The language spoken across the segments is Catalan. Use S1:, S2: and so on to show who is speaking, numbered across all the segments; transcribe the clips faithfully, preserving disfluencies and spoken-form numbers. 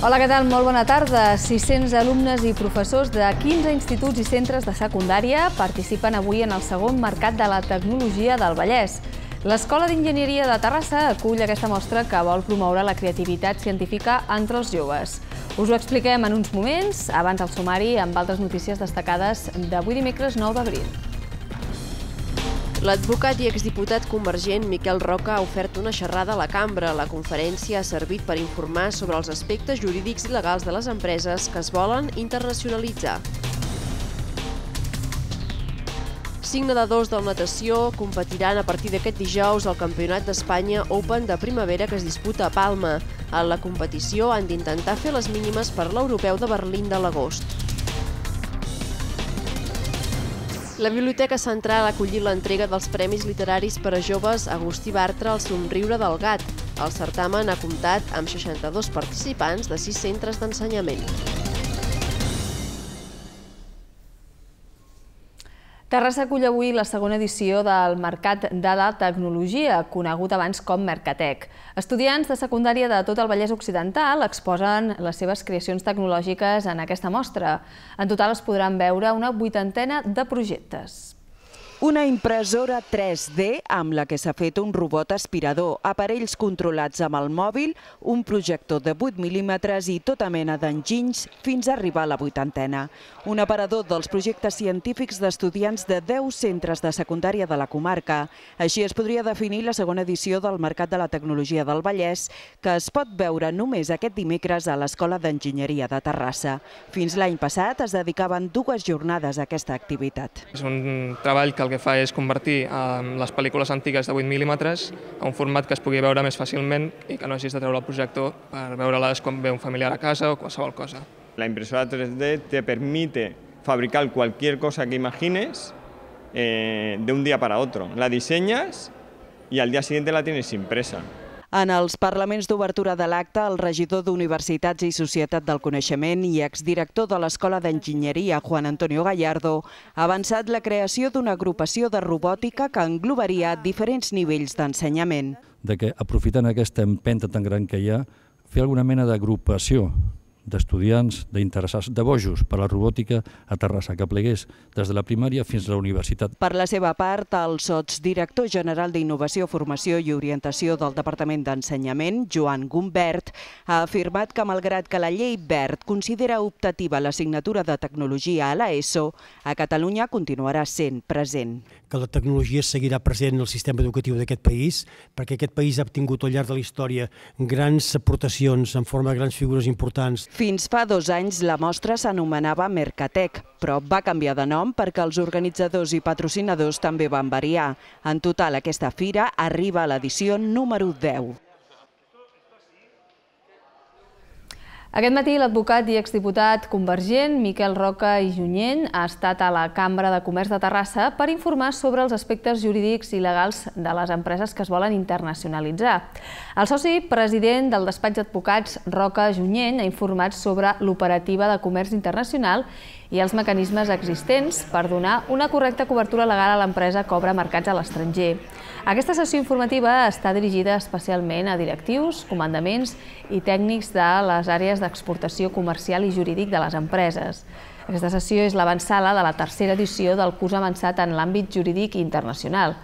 S1: Hola, què tal? Molt bona tarda. sis-cents alumnes i professors de quinze instituts i centres de secundària participen avui en el segon Mercat de la Tecnologia del Vallès. L'Escola d'Enginyeria de Terrassa acull aquesta mostra que vol promoure la creativitat científica entre els joves. Us ho expliquem en uns moments, abans el sumari amb altres notícies destacades d'avui dimecres nou d'abril.
S2: L'advocat i exdiputat convergent Miquel Roca ha ofert una xerrada a la cambra. La conferència ha servit per informar sobre els aspectes jurídics i legals de les empreses que es volen internacionalitzar. Cinc nedadors de natació competiran a partir d'aquest dijous al Campionat d'Espanya Open de primavera que es disputa a Palma. En la competició han d'intentar fer les mínimes per l'Europeu de Berlín de l'agost. La Biblioteca Central ha acollit l'entrega dels Premis Literaris per a Joves Agustí Bartra al Somriure del Gat. El certamen ha comptat amb seixanta-dos participants de sis centres d'ensenyament.
S1: Terrassa acull avui la segona edició del Mercat de la Tecnologia, conegut abans com Mercatec. Estudiants de secundària de tot el Vallès Occidental exposen les seves creacions tecnològiques en aquesta mostra. En total es podran veure una vuitantena de projectes.
S3: Una impressora tres D amb la que s'ha fet un robot aspirador, aparells controlats amb el mòbil, un projector de vuit mil·límetres i tota mena d'enginys fins a arribar a la vuitantena. Un aparador dels projectes científics d'estudiants de deu centres de secundària de la comarca. Així es podria definir la segona edició del Mercat de la Tecnologia del Vallès, que es pot veure només aquest dimecres a l'Escola d'Enginyeria de Terrassa. Fins l'any passat es dedicaven dues jornades a aquesta activitat.
S4: És un treball que el que fa és convertir les pel·lícules antigues de vuit mil·límetres a un format que es pugui veure més fàcilment i que no hagis de treure el projector per veure-les quan ve un familiar a casa o qualsevol cosa.
S5: La impresora tres D te permite fabricar cualquier cosa que imagines eh, de un día para otro. La diseñas y al día siguiente la tienes impresa.
S3: En els parlaments d'obertura de l'acte, el regidor d'Universitats i Societat del Coneixement i exdirector de l'Escola d'Enginyeria, Juan Antonio Gallardo, ha avançat la creació d'una agrupació de robòtica que englobaria diferents nivells d'ensenyament.
S6: De que, aprofitant aquesta empenta tan gran que hi ha, fer alguna mena d'agrupació d'estudiants, d'interessats, de bojos per a la robòtica a Terrassa, que plegués des de la primària fins a la universitat.
S3: Per la seva part, el sotsdirector general d'Innovació, Formació i Orientació del Departament d'Ensenyament, Joan Gumbert, ha afirmat que malgrat que la llei Wert considera optativa l'assignatura de Tecnologia a l'ESO, a Catalunya continuarà sent present.
S7: Que la tecnologia seguirà present en el sistema educatiu d'aquest país, perquè aquest país ha obtingut al llarg de la història grans aportacions en forma de grans figures importants.
S3: Fins fa dos anys la mostra s'anomenava Mercatec, però va canviar de nom perquè els organitzadors i patrocinadors també van variar. En total, aquesta fira arriba a l'edició número deu.
S1: Aquest matí l'advocat i exdiputat convergent Miquel Roca i Junyent ha estat a la Cambra de Comerç de Terrassa per informar sobre els aspectes jurídics i legals de les empreses que es volen internacionalitzar. El soci president del despatx d'advocats Roca Junyent ha informat sobre l'operativa de comerç internacional i els mecanismes existents per donar una correcta cobertura legal a l'empresa que obre mercats a l'estranger. Aquesta sessió informativa està dirigida especialment a directius, comandaments i tècnics de les àrees d'exportació comercial i jurídic de les empreses. Aquesta sessió és l'avantsala de la tercera edició del curs avançat en l'àmbit jurídic internacional.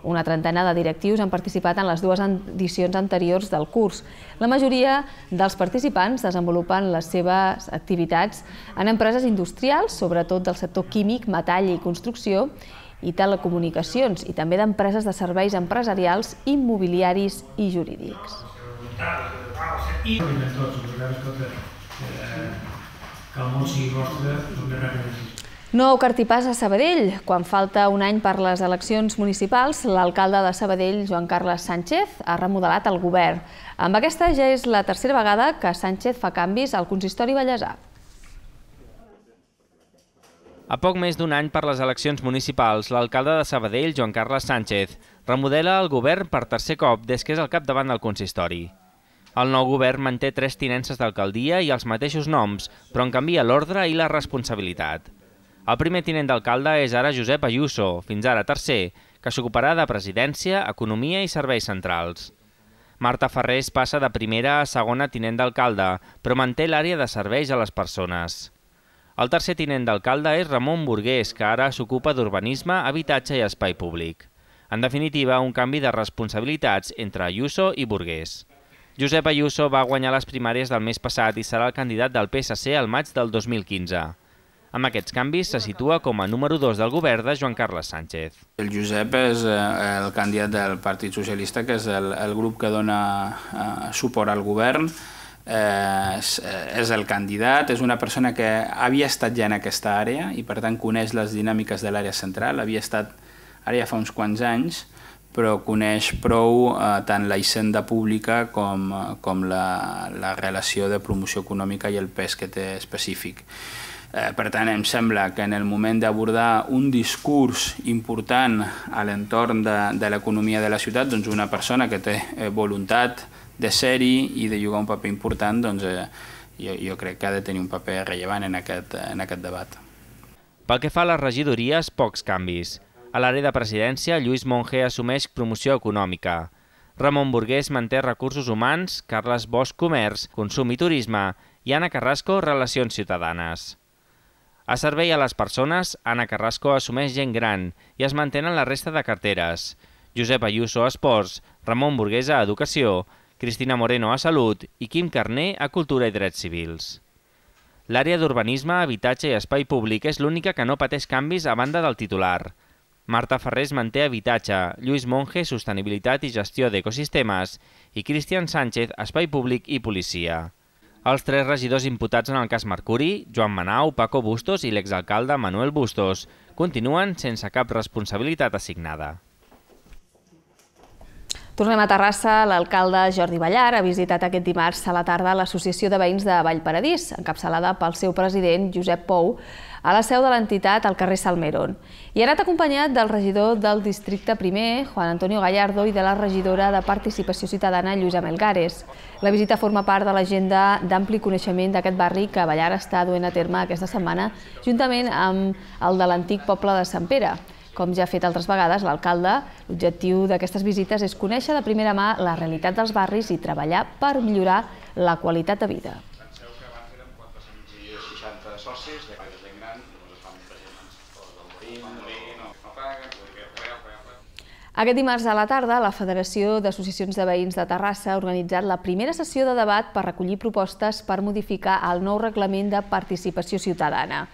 S1: Una trentena de directius han participat en les dues edicions anteriors del curs. La majoria dels participants desenvolupen les seves activitats en empreses industrials, sobretot del sector químic, metall i construcció, i telecomunicacions, i també d'empreses de serveis empresarials, immobiliaris i jurídics. Nou cartipàs a Sabadell. Quan falta un any per les eleccions municipals, l'alcalde de Sabadell, Joan Carles Sánchez, ha remodelat el govern. Amb aquesta ja és la tercera vegada que Sánchez fa canvis al consistori vallesà.
S8: A poc més d'un any per les eleccions municipals, l'alcalde de Sabadell, Joan Carles Sánchez, remodela el govern per tercer cop des que és al capdavant del consistori. El nou govern manté tres tinences d'alcaldia i els mateixos noms, però en canvia l'ordre i la responsabilitat. El primer tinent d'alcalde és ara Josep Ayuso, fins ara tercer, que s'ocuparà de presidència, economia i serveis centrals. Marta Ferrés passa de primera a segona tinent d'alcalde, però manté l'àrea de serveis a les persones. El tercer tinent d'alcalde és Ramon Burgués, que ara s'ocupa d'urbanisme, habitatge i espai públic. En definitiva, un canvi de responsabilitats entre Ayuso i Burgués. Josep Ayuso va guanyar les primàries del mes passat i serà el candidat del P S C al maig del dos mil quinze. Amb aquests canvis se situa com a número dos del govern de Joan Carles Sánchez.
S9: El Josep és el candidat del Partit Socialista, que és el, el grup que dona eh, suport al govern. Eh, és, és el candidat, és una persona que havia estat ja en aquesta àrea i per tant coneix les dinàmiques de l'àrea central, havia estat ara ja fa uns quants anys, però coneix prou eh, tant la hisenda pública com, com la, la relació de promoció econòmica i el pes que té específic. Eh, per tant, em sembla que en el moment d'abordar un discurs important a l'entorn de, de l'economia de la ciutat, doncs una persona que té eh, voluntat de ser-hi i de jugar un paper important, doncs eh, jo, jo crec que ha de tenir un paper rellevant en aquest, en aquest debat.
S8: Pel que fa a les regidories, pocs canvis. A l'àrea de presidència, Lluís Monge assumeix promoció econòmica. Ramon Burgués manté recursos humans, Carles Bosch comerç, consum i turisme i Anna Carrasco relacions ciutadanes. A servei a les persones, Anna Carrasco assumeix gent gran i es mantenen la resta de carteres. Josep Ayuso a Esports, Ramon Burgués a Educació, Cristina Moreno a Salut i Quim Carner a Cultura i Drets Civils. L'àrea d'urbanisme, habitatge i espai públic és l'única que no pateix canvis a banda del titular. Marta Ferrés manté habitatge, Lluís Monge sostenibilitat i gestió d'ecosistemes i Cristian Sánchez espai públic i policia. Els tres regidors imputats en el cas Mercuri, Joan Manau, Paco Bustos i l'exalcalde Manuel Bustos, continuen sense cap responsabilitat assignada.
S1: Tornem a Terrassa. L'alcalde Jordi Ballar ha visitat aquest dimarts a la tarda l'Associació de Veïns de Vallparadís, encapçalada pel seu president, Josep Pou, a la seu de l'entitat al carrer Salmerón. I ha anat acompanyat del regidor del districte primer, Juan Antonio Gallardo, i de la regidora de Participació Ciutadana, Lluïsa Melgares. La visita forma part de l'agenda d'ampli coneixement d'aquest barri que Ballar està duent a terme aquesta setmana, juntament amb el de l'antic poble de Sant Pere. Com ja ha fet altres vegades l'alcalde, l'objectiu d'aquestes visites és conèixer de primera mà la realitat dels barris i treballar per millorar la qualitat de vida.
S10: Penseu que abans érem quatre-cents seixanta socis, de gaire gent gran, llavors es fan presents tots del Morí, el Morí, no paga,
S1: Aquest dimarts a la tarda, la Federació d'Associacions de Veïns de Terrassa ha organitzat la primera sessió de debat per recollir propostes per modificar el nou reglament de participació ciutadana.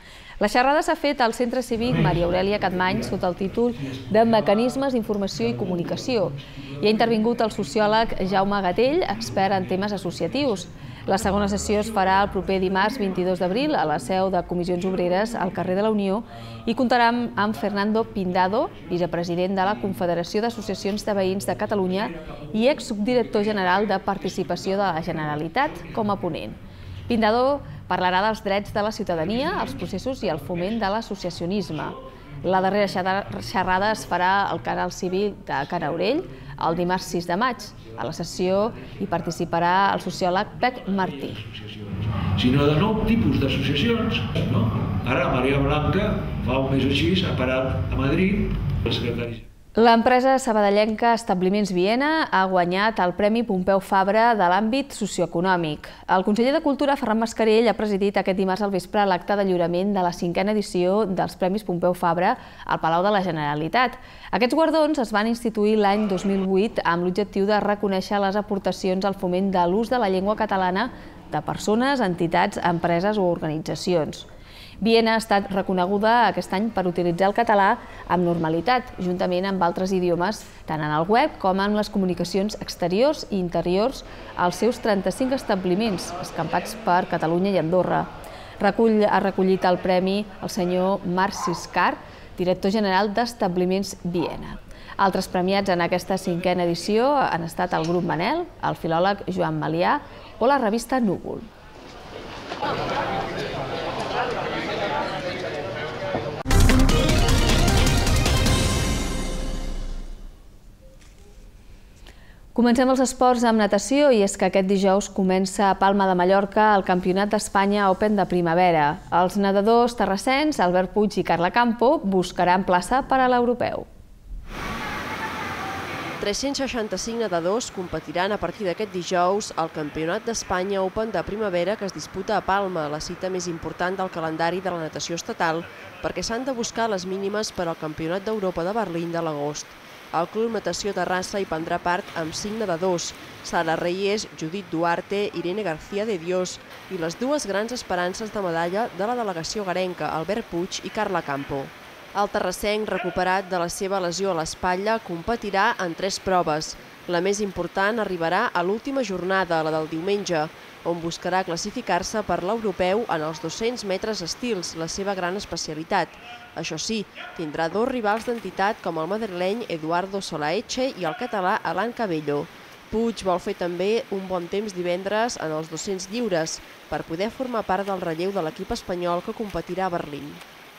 S1: La xerrada s'ha fet al Centre Cívic Maria Aurèlia Capmany sota el títol de Mecanismes d'informació i comunicació. Hi ha intervingut el sociòleg Jaume Gatell, expert en temes associatius. La segona sessió es farà el proper dimarts vint-i-dos d'abril a la seu de Comissions Obreres al carrer de la Unió i comptarà amb Fernando Pindado, vicepresident de la Confederació d'Associacions de Veïns de Catalunya i exsubdirector general de Participació de la Generalitat, com a ponent. Pindado parlarà dels drets de la ciutadania, els processos i el foment de l'associacionisme. La darrera xerrada es farà al Canal Cívic de Can Aurell el dimarts sis de maig. A la sessió hi participarà el sociòleg Pep Martí.
S11: Sinó de nou tipus d'associacions. Ara Maria Blanca fa un mes així ha parat a Madrid el secretari.
S1: L'empresa sabadellenca Establiments Viena ha guanyat el Premi Pompeu Fabra de l'àmbit socioeconòmic. El conseller de Cultura, Ferran Mascarell, ha presidit aquest dimarts al vespre l'acte de lliurament de la cinquena edició dels Premis Pompeu Fabra al Palau de la Generalitat. Aquests guardons es van instituir l'any dos mil vuit amb l'objectiu de reconèixer les aportacions al foment de l'ús de la llengua catalana de persones, entitats, empreses o organitzacions. Viena ha estat reconeguda aquest any per utilitzar el català amb normalitat, juntament amb altres idiomes, tant en el web com en les comunicacions exteriors i interiors als seus trenta-cinc establiments, escampats per Catalunya i Andorra. Ha recollit el premi el senyor Marc Siscar, director general d'Establiments Viena. Altres premiats en aquesta cinquena edició han estat el grup Manel, el filòleg Joan Malià o la revista Núvol. Comencem els esports amb natació i és que aquest dijous comença a Palma de Mallorca el Campionat d'Espanya Open de primavera. Els nedadors terrassens, Albert Puig i Carla Campo, buscaran plaça per a l'europeu.
S2: tres-cents seixanta-cinc nedadors competiran a partir d'aquest dijous al Campionat d'Espanya Open de primavera que es disputa a Palma, la cita més important del calendari de la natació estatal, perquè s'han de buscar les mínimes per al Campionat d'Europa de Berlín de l'agost. El Club Natació Terrassa hi prendrà part amb cinc nedadors, Sara Reyes, Judit Duarte, Irene García de Dios i les dues grans esperances de medalla de la delegació garenca, Albert Puig i Carla Campo. El terrassenc, recuperat de la seva lesió a l'espatlla, competirà en tres proves. La més important arribarà a l'última jornada, la del diumenge, on buscarà classificar-se per l'europeu en els dos-cents metres estils, la seva gran especialitat. Això sí, tindrà dos rivals d'entitat com el madrileny Eduardo Solaeche i el català Alan Cabello. Puig vol fer també un bon temps divendres en els dos-cents lliures per poder formar part del relleu de l'equip espanyol que competirà a Berlín.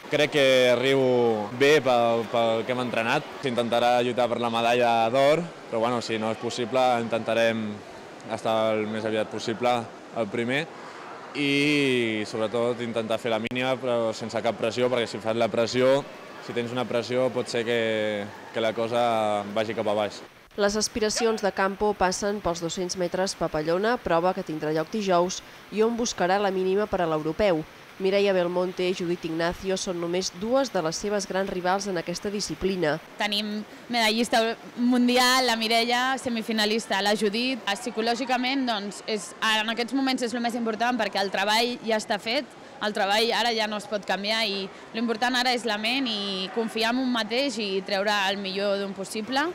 S12: Crec que arribo bé pel, pel que hem entrenat. S'intentarà lluitar per la medalla d'or, però bueno, si no és possible intentarem estar el més aviat possible el primer i sobretot intentar fer la mínima però sense cap pressió, perquè si fas la pressió, si tens una pressió pot ser que, que la cosa vagi cap a baix.
S2: Les aspiracions de Campo passen pels dos-cents metres papallona, prova que tindrà lloc dijous i on buscarà la mínima per a l'europeu. Mireia Belmonte i Judit Ignacio són només dues de les seves grans rivals en aquesta disciplina.
S13: Tenim medallista mundial, la Mireia, semifinalista, la Judit. Psicològicament, doncs, és, en aquests moments és el més important perquè el treball ja està fet, el treball ara ja no es pot canviar i l'important ara és la ment i confiar en un mateix i treure el millor d'un possible.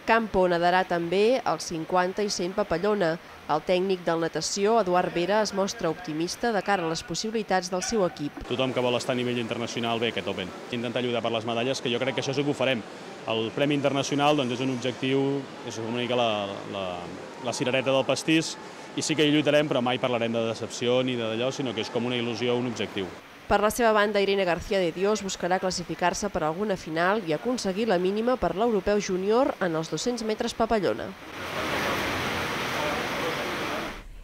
S2: Campo nedarà també els cinquanta i cent papallona. El tècnic del natació, Eduard Vera, es mostra optimista de cara a les possibilitats del seu equip.
S14: Tothom que vol estar a nivell internacional ve aquest Open. Intentar lluitar per les medalles, que jo crec que això sí que ho farem. El Premi Internacional doncs, és un objectiu, és una mica la, la, la cirereta del pastís, i sí que hi lluitarem, però mai parlarem de decepció ni d'allò, sinó que és com una il·lusió, un objectiu.
S2: Per la seva banda, Irene García de Dios buscarà classificar-se per alguna final i aconseguir la mínima per l'europeu júnior en els dos-cents metres papallona.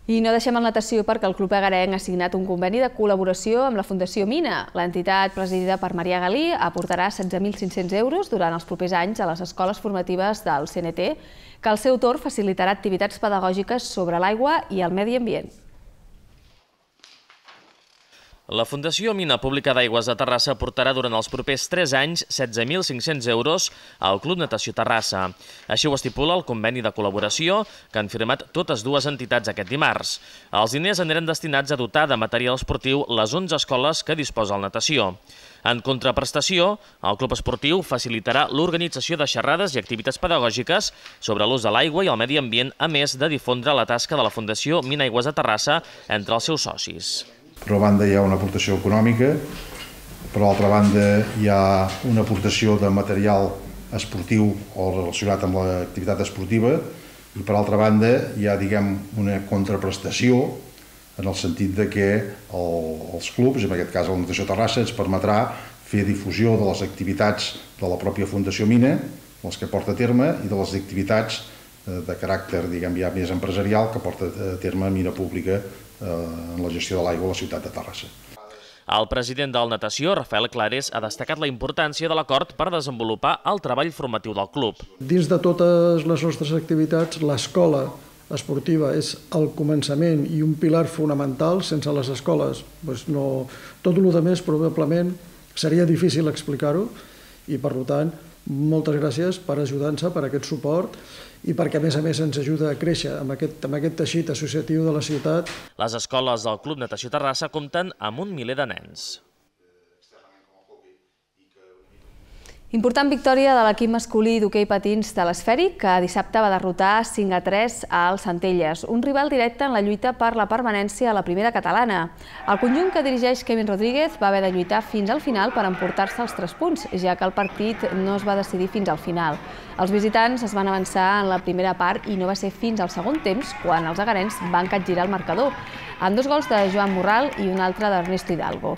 S1: I no deixem el natació perquè el Club Egarenc ha signat un conveni de col·laboració amb la Fundació Mina. L'entitat, presidida per Maria Galí, aportarà setze mil cinc-cents euros durant els propers anys a les escoles formatives del C N T, que al seu torn facilitarà activitats pedagògiques sobre l'aigua i el medi ambient.
S15: La Fundació Mina Pública d'Aigües de Terrassa aportarà durant els propers tres anys setze mil cinc-cents euros al Club Natació Terrassa. Així ho estipula el conveni de col·laboració que han firmat totes dues entitats aquest dimarts. Els diners aniran destinats a dotar de material esportiu les onze escoles que disposa el natació. En contraprestació, el Club Esportiu facilitarà l'organització de xerrades i activitats pedagògiques sobre l'ús de l'aigua i el medi ambient, a més de difondre la tasca de la Fundació Mina Aigües de Terrassa entre els seus socis.
S16: Per una banda hi ha una aportació econòmica, per l'altra banda hi ha una aportació de material esportiu o relacionat amb l'activitat esportiva i per altra banda hi ha, diguem, una contraprestació en el sentit de que els clubs, en aquest cas la Natació Terrassa, ens permetrà fer difusió de les activitats de la pròpia Fundació Mina, les que porta a terme, i de les activitats de caràcter, diguem, ja més empresarial que porta a terme Mina Pública en la gestió de l'aigua a la ciutat de Terrassa.
S15: El president del Natació, Rafael Clares, ha destacat la importància de l'acord per desenvolupar el treball formatiu del club.
S17: Dins de totes les nostres activitats, l'escola esportiva és el començament i un pilar fonamental. Sense les escoles, doncs no, tot el que més probablement seria difícil explicar-ho i per tant moltes gràcies per ajudar-nos, per aquest suport i perquè a més a més ens ajuda a créixer amb aquest, amb aquest teixit associatiu de la ciutat.
S15: Les escoles del Club Natació Terrassa compten amb un miler de nens.
S1: Important victòria de l'equip masculí d'hoquei patins de l'Esfèric, que dissabte va derrotar cinc a tres al Centelles, un rival directe en la lluita per la permanència a la primera catalana. El conjunt que dirigeix Kevin Rodríguez va haver de lluitar fins al final per emportar-se els tres punts, ja que el partit no es va decidir fins al final. Els visitants es van avançar en la primera part i no va ser fins al segon temps quan els egarens van capgirar el marcador, amb dos gols de Joan Morral i un altre d'Ernesto Hidalgo.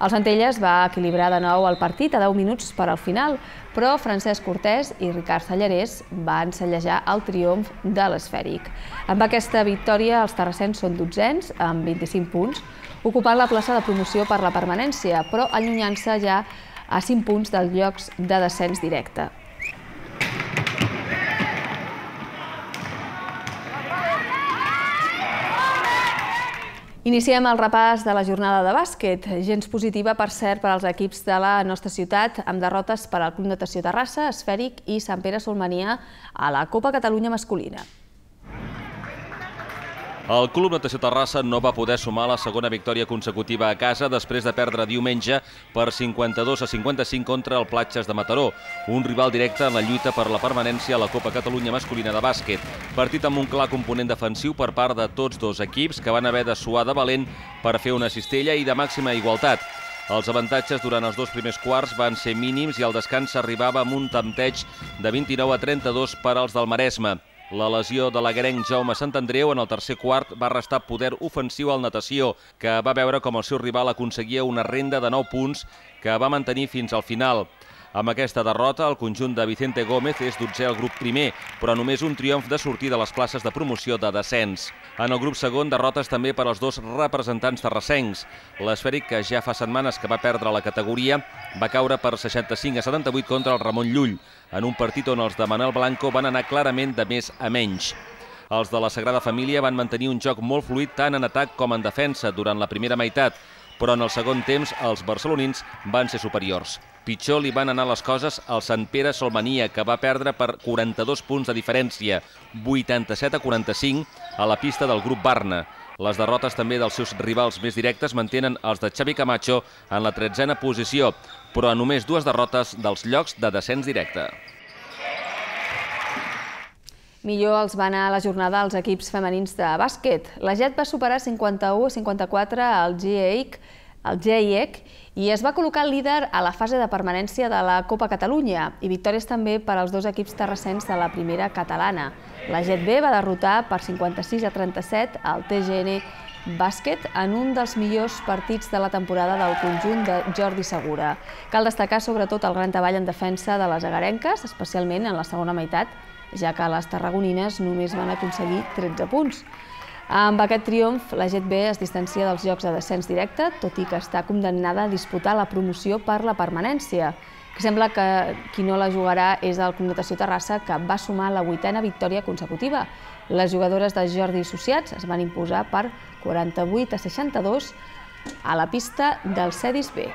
S1: El Centelles va equilibrar de nou el partit a deu minuts per al final, però Francesc Cortés i Ricard Sallarès van sellejar el triomf de l'Esfèric. Amb aquesta victòria, els terrassens són dotzens, amb vint-i-cinc punts, ocupant la plaça de promoció per la permanència, però allunyant-se ja a cinc punts dels llocs de descens directe. Iniciem el repàs de la jornada de bàsquet, gens positiva, per cert, per als equips de la nostra ciutat, amb derrotes per al Club Natació Terrassa, Esfèric i Sant Pere Solmania a la Copa Catalunya masculina.
S18: El Club Natació Terrassa no va poder sumar la segona victòria consecutiva a casa després de perdre diumenge per cinquanta-dos a cinquanta-cinc contra el Platges de Mataró, un rival directe en la lluita per la permanència a la Copa Catalunya masculina de bàsquet. Partit amb un clar component defensiu per part de tots dos equips que van haver de suar de valent per fer una cistella i de màxima igualtat. Els avantatges durant els dos primers quarts van ser mínims i el descans s'arribava amb un tempteig de vint-i-nou a trenta-dos per als del Maresme. La lesió de l'aguerenc Jaume Sant Andreu en el tercer quart va restar poder ofensiu al Natació, que va veure com el seu rival aconseguia una renda de nou punts que va mantenir fins al final. Amb aquesta derrota, el conjunt de Vicente Gómez és dotzè al grup primer, però només un triomf de sortir de les places de promoció de descens. En el grup segon, derrotes també per als dos representants terrassencs. L'Esfèric, que ja fa setmanes que va perdre la categoria, va caure per seixanta-cinc a setanta-vuit contra el Ramon Llull, en un partit on els de Manel Blanco van anar clarament de més a menys. Els de la Sagrada Família van mantenir un joc molt fluid tant en atac com en defensa durant la primera meitat, però en el segon temps els barcelonins van ser superiors. Pitjor li van anar les coses al Sant Pere Solmania, que va perdre per quaranta-dos punts de diferència, vuitanta-set a quaranta-cinc, a la pista del grup Barna. Les derrotes també dels seus rivals més directes mantenen els de Xavi Camacho en la tretzena posició, però a només dues derrotes dels llocs de descens directe.
S1: Millor els va anar a la jornada als equips femenins de bàsquet. La Jet va superar cinquanta-u a cinquanta-quatre al G E I C, el G I E C, i es va col·locar líder a la fase de permanència de la Copa Catalunya, i victòries també per als dos equips terrassens de la primera catalana. La Jet B va derrotar per cinquanta-sis a trenta-set al T G N Bàsquet en un dels millors partits de la temporada del conjunt de Jordi Segura. Cal destacar sobretot el gran treball en defensa de les agarenques, especialment en la segona meitat, ja que les tarragonines només van aconseguir tretze punts. Amb aquest triomf, la Jet B es distancia dels llocs de descens directe, tot i que està condemnada a disputar la promoció per la permanència, que sembla que qui no la jugarà és el Club Natació Terrassa, que va sumar la vuitena victòria consecutiva. Les jugadores de Jordi i Associats es van imposar per quaranta-vuit a seixanta-dos a la pista del Cedis B.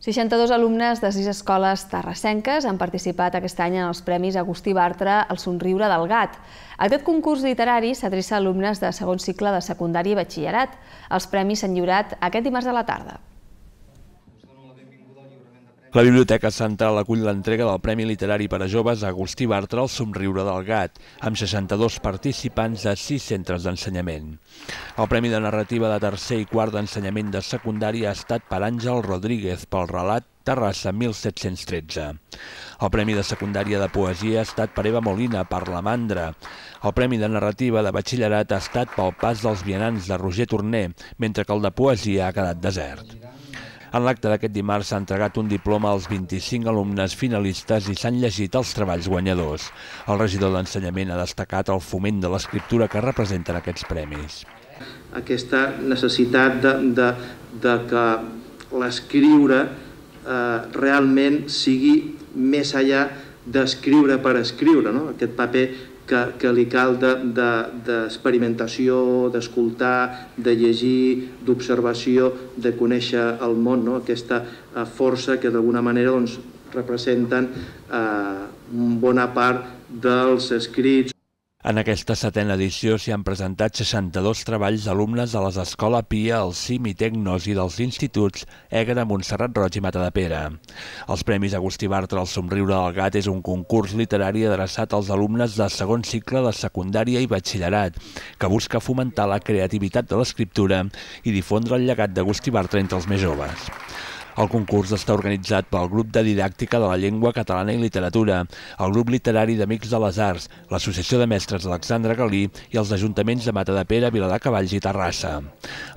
S1: seixanta-dos alumnes de sis escoles terrassenques han participat aquest any en els Premis Agustí Bartra al Somriure del Gat. Aquest concurs literari s'adreça a alumnes de segon cicle de secundària i batxillerat. Els premis s'han lliurat aquest dimarts a la tarda.
S19: La Biblioteca Central acull l'entrega del Premi Literari per a Joves Agustí Bartra al Somriure del Gat, amb seixanta-dos participants de sis centres d'ensenyament. El Premi de Narrativa de tercer i quart d'ensenyament de secundària ha estat per Àngel Rodríguez pel relat Terrassa mil set-cents tretze. El Premi de Secundària de Poesia ha estat per Eva Molina per La Mandra. El Premi de Narrativa de Batxillerat ha estat pel Pas dels Vianants de Roger Torner, mentre que el de Poesia ha quedat desert. En l'acte d'aquest dimarts s'ha entregat un diploma als vint-i-cinc alumnes finalistes i s'han llegit els treballs guanyadors. El regidor d'Ensenyament ha destacat el foment de l'escriptura que representen aquests premis.
S20: Aquesta necessitat de, de, de que l'escriure eh, realment sigui més enllà d'escriure per escriure, no? Aquest paper que, que li cal d'experimentació, de, d'escoltar, de llegir, d'observació, de conèixer el món, no? Aquesta eh, força que d'alguna manera doncs, representen eh, bona part dels escrits.
S19: En aquesta setena edició s'hi han presentat seixanta-dos treballs d'alumnes de les Escola Pia, el CIM i Tecnos i dels instituts Ègara, Montserrat Roig i Matadepera. Els Premis Agustí Bartra al Somriure del Gat és un concurs literari adreçat als alumnes de segon cicle de secundària i batxillerat, que busca fomentar la creativitat de l'escriptura i difondre el llegat d'Agustí Bartra entre els més joves. El concurs està organitzat pel Grup de Didàctica de la Llengua Catalana i Literatura, el Grup Literari d'Amics de les Arts, l'Associació de Mestres Alexandre Galí i els ajuntaments de Matadepera, Viladecavalls i Terrassa.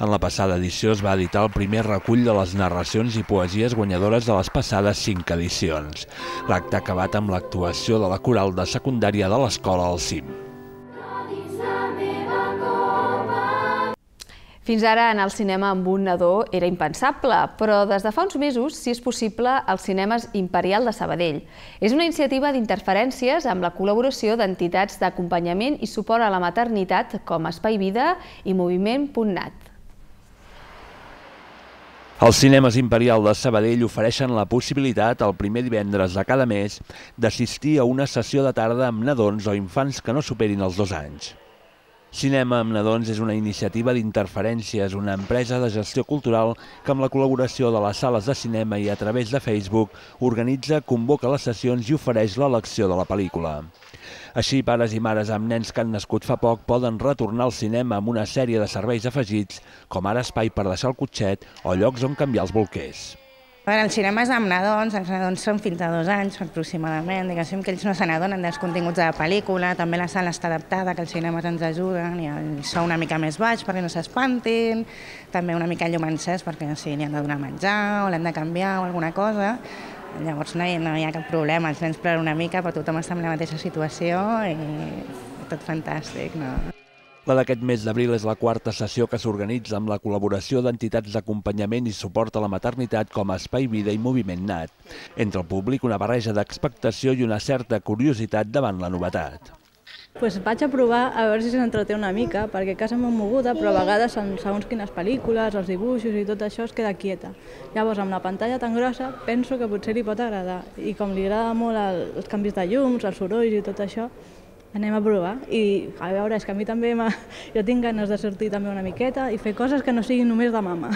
S19: En la passada edició es va editar el primer recull de les narracions i poesies guanyadores de les passades cinc edicions. L'acte ha acabat amb l'actuació de la coral de secundària de l'escola al CIM.
S1: Fins ara anar al cinema amb un nadó era impensable, però des de fa uns mesos sí és possible als cinemes Imperial de Sabadell. És una iniciativa d'interferències amb la col·laboració d'entitats d'acompanyament i suport a la maternitat com Espai Vida i Moviment punt nat.
S19: Els cinemes Imperial de Sabadell ofereixen la possibilitat, el primer divendres de cada mes, d'assistir a una sessió de tarda amb nadons o infants que no superin els dos anys. Cinema amb nadons és una iniciativa d'interferències, una empresa de gestió cultural que amb la col·laboració de les sales de cinema i a través de Facebook organitza, convoca les sessions i ofereix l'elecció de la pel·lícula. Així, pares i mares amb nens que han nascut fa poc poden retornar al cinema amb una sèrie de serveis afegits, com ara espai per deixar el cotxet o llocs on canviar els bolquers.
S21: Els cinemes amb nadons, els nadons són fins a dos anys aproximadament, diguéssim que ells no se n'adonen dels continguts de la pel·lícula, també la sala està adaptada, que els cinemes ens ajuden, i el so una mica més baix perquè no s'espantin, també una mica llum encès perquè si li han de donar menjar o l'hem de canviar o alguna cosa, llavors no hi, no hi ha cap problema, els nens ploren una mica però tothom està en la mateixa situació i tot fantàstic, no?
S19: La d'aquest mes d'abril és la quarta sessió que s'organitza amb la col·laboració d'entitats d'acompanyament i suport a la maternitat com Espai Vida i Moviment Nat. Entre el públic, una barreja d'expectació i una certa curiositat davant la novetat.
S22: Pues vaig a provar a veure si s'entreté una mica, perquè a casa m'ho moguda, però a vegades segons quines pel·lícules, els dibuixos i tot això es queda quieta. Llavors, amb la pantalla tan grossa, penso que potser li pot agradar. I com li agrada molt els canvis de llums, els sorolls i tot això, anem a provar i a veure, és que a mi també jo tinc ganes de sortir també una miqueta i fer coses que no siguin només de mama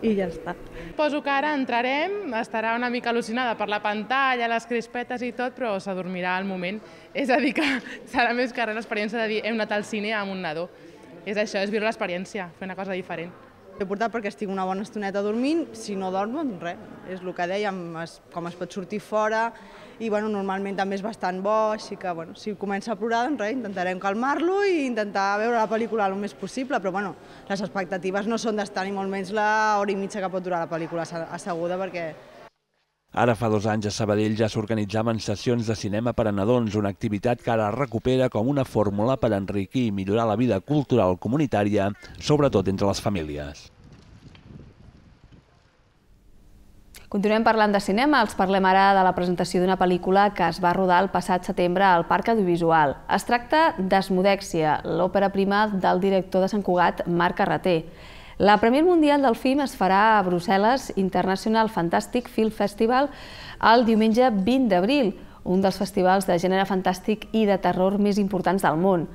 S22: i ja està.
S23: Suposo que ara entrarem, estarà una mica al·lucinada per la pantalla, les crispetes i tot, però s'adormirà al moment. És a dir, que serà més que res l'experiència de dir hem anat al cine amb un nadó. És això, és viure l'experiència, fer una cosa diferent.
S24: L'he portat perquè estic una bona estoneta dormint, si no dormo, doncs res, és el que dèiem, com es pot sortir fora, i bueno, normalment també és bastant bo, així que bueno, si comença a plorar, doncs res, intentarem calmar-lo i intentar veure la pel·lícula el més possible, però bueno, les expectatives no són d'estar ni molt menys l'hora i mitja que pot durar la pel·lícula asseguda, perquè...
S19: Ara fa dos anys a Sabadell ja s'organitzaven sessions de cinema per a nadons, una activitat que ara recupera com una fórmula per enriquir i millorar la vida cultural comunitària, sobretot entre les famílies.
S1: Continuem parlant de cinema, els parlem ara de la presentació d'una pel·lícula que es va rodar el passat setembre al Parc Audiovisual. Es tracta d'Esmodèxia, l'òpera prima del director de Sant Cugat, Marc Carreter. La Premier Mundial del film es farà a Brussel·les International Fantastic Film Festival el diumenge vint d'abril, un dels festivals de gènere fantàstic i de terror més importants del món.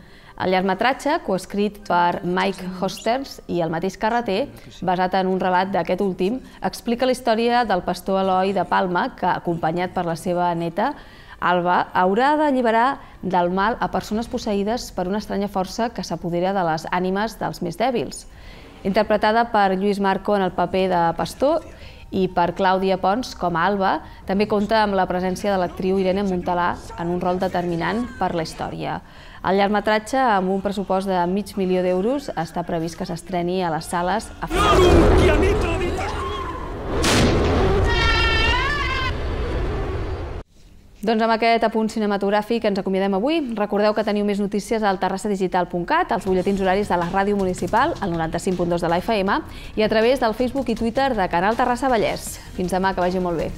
S1: El llargmetratge, coescrit per Mike Hosters i el mateix Carreter, basat en un relat d'aquest últim, explica la història del pastor Eloi de Palma, que, acompanyat per la seva neta, Alba, haurà d'alliberar del mal a persones posseïdes per una estranya força que s'apodera de les ànimes dels més dèbils. Interpretada per Lluís Marco en el paper de pastor i per Clàudia Pons com a Alba, també compta amb la presència de l'actriu Irene Montalà en un rol determinant per la història. El llargmetratge, amb un pressupost de mig milió d'euros, està previst que s'estreni a les sales a finals. Doncs amb aquest apunt cinematogràfic ens acomiadem avui. Recordeu que teniu més notícies al terrassa digital punt cat, als butlletins horaris de la ràdio municipal, al noranta-cinc punt dos de la F M, i a través del Facebook i Twitter de Canal Terrassa Vallès. Fins demà, que vagi molt bé.